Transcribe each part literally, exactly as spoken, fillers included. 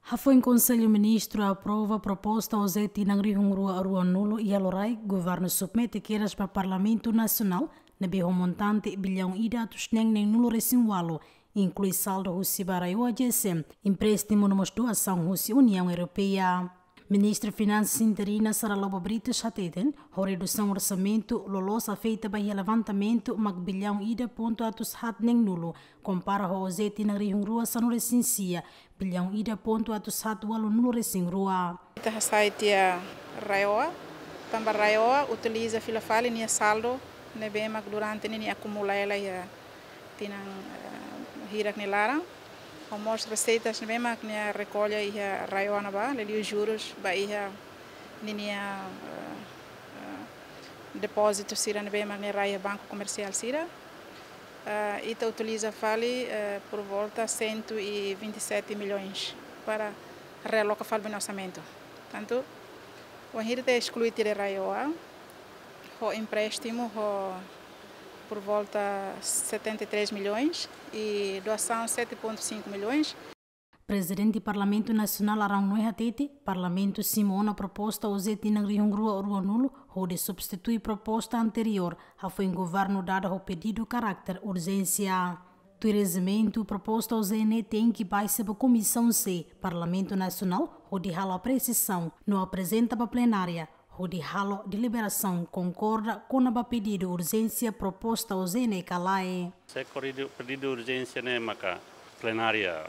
Hafoin Konsellu Ministru aprova proposta OJE tinan rihun rua ruanulu iha loraik, Governu submete kedas ba Parlamentu Nasionál, ne'ebé ho montante billaun ida atus neen neenulu resin ualu, inklui saldu husi ba RAEOA GSM, empréstimu no mós doasaun husi Uniaun Europeia. Ministra Finansas interina Sara Lobo Britos hateten, ho redusaun orsamentu, loloos afeta ba iha levantamentu mak billaun ida pontu atus haat neenulu, kompara ho OJE tinan rihun rua sanulu resin sia, billaun ida pontu atus haat ualunulu resin rua. Ita hasai tiha RAEOA, tanba RAEOA utiliza fila fali nia saldu ne'ebé mak durante ne'e nia akumula hela iha tinan, eh, hirak nia laran. Ho mós reseitas ne'ebé mak nia rekolla iha RAEOA ne'ebá, liuliu jurus ba iha ninia, eh, eh, depózitu sira ne'ebé mak nia rai iha banku komersiál sira. Eh, ita utiliza fali, eh, por volta cento e vinte e sete milhões para realoka fali ba nia orsamentu. Tantu, wainhira ita esklui tiha RAEOA, ho empréstimu ho por volta setenta e três milhões e doasaun sete ponto cinco milhões. Prezidente Parlamentu Nasionál Arão Noé hatete, Parlamentu simu ona proposta OJE tinan rihun rua ruanulu, hodi substitui proposta anteriór, hafoin Governu dada ho pedidu karakter urjénsia. Tuir rejimentu, proposta OJE ne'e tenke baixa ba Komisaun C, Parlamentu Nasionál, hodi halo apresiasaun, no aprezenta ba plenária, hodi halo deliberasaun konkorda kona-ba pedidu urjénsia proposta OJE ne'e ka lae. Se koridu pedidu urjénsia ne'e maka plenária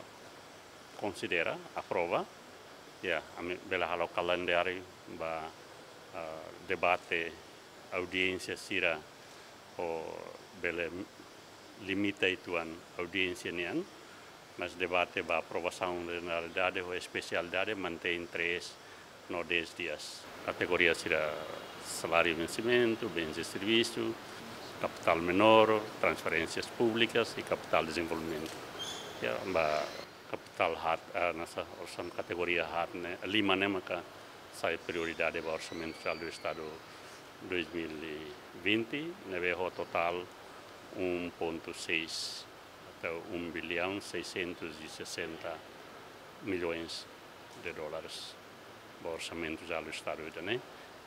konsidera, aprova, ya, ami bele halo kalendáriu ba, ah, debate audiénsia sira, ou bele limita uitoan audiénsia nian, mas debate ba aprovasaun jeneralidade ou espesialidade mantein três no dez dias. Kategoria sira saláriu vensimentu, bens de servisu, kapitál menór, transferénsias públikas i kapitál dezenvolvimentu. Ya, ba kapitál haat, ah, hanesan orsam kategoria haat ne'e, lima ne'e maka sai prioridade ba Orsamentu Jerál do Estadu dois mil e vinte, ne'ebé ho totál um ponto seis, atau um bilhão seiscentos e sessenta milhões de dólares ba Orsamentu Jerál do Estadu ida-ne'e.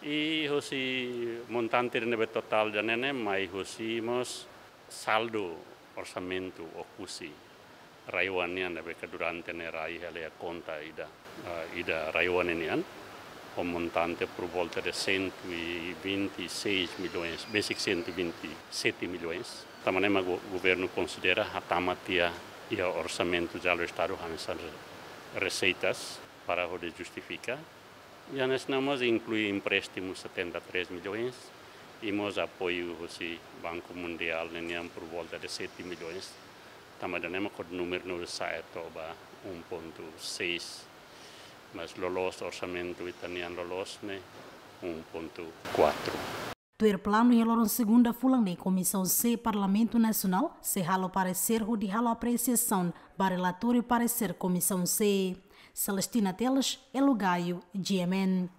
I hosi montante ne'ebé totál ida-ne'e ne'e mai hosi mós saldu orsamentu Oekusi RAEOA nian ne'ebé ke durante ne'e rai hela iha konta ida, ah, ida RAEOA nian, ho montante por volta de cento e vinte e seis milhões, besik cento e vinte e sete milhões. Tanba ne'e mak go-, governu konsidera hatama tiha iha Orsamentu Jerál do Estadu hanesan re-, reseitas para hodi justifika. I hanesan ne'e mós inklui empréstimu setenta e três milhões, i mós apoiu hosi Banku Mundiál ne'e nian por volta de sete milhões. Tanba ida-ne'e mak ho númeru ne'e sa'e to'o ba um ponto seis. Mas loloos orsamentu ita-nian loloos ne'e um ponto quatro. Tuir planu iha loron segunda fulan ne'e Komisaun C Parlamentu Nasionál sei halo paresér hodi halo apresiasaun ba relatóriu paresér Komisaun C. Celestina Teles, Elo Gaio, G M N.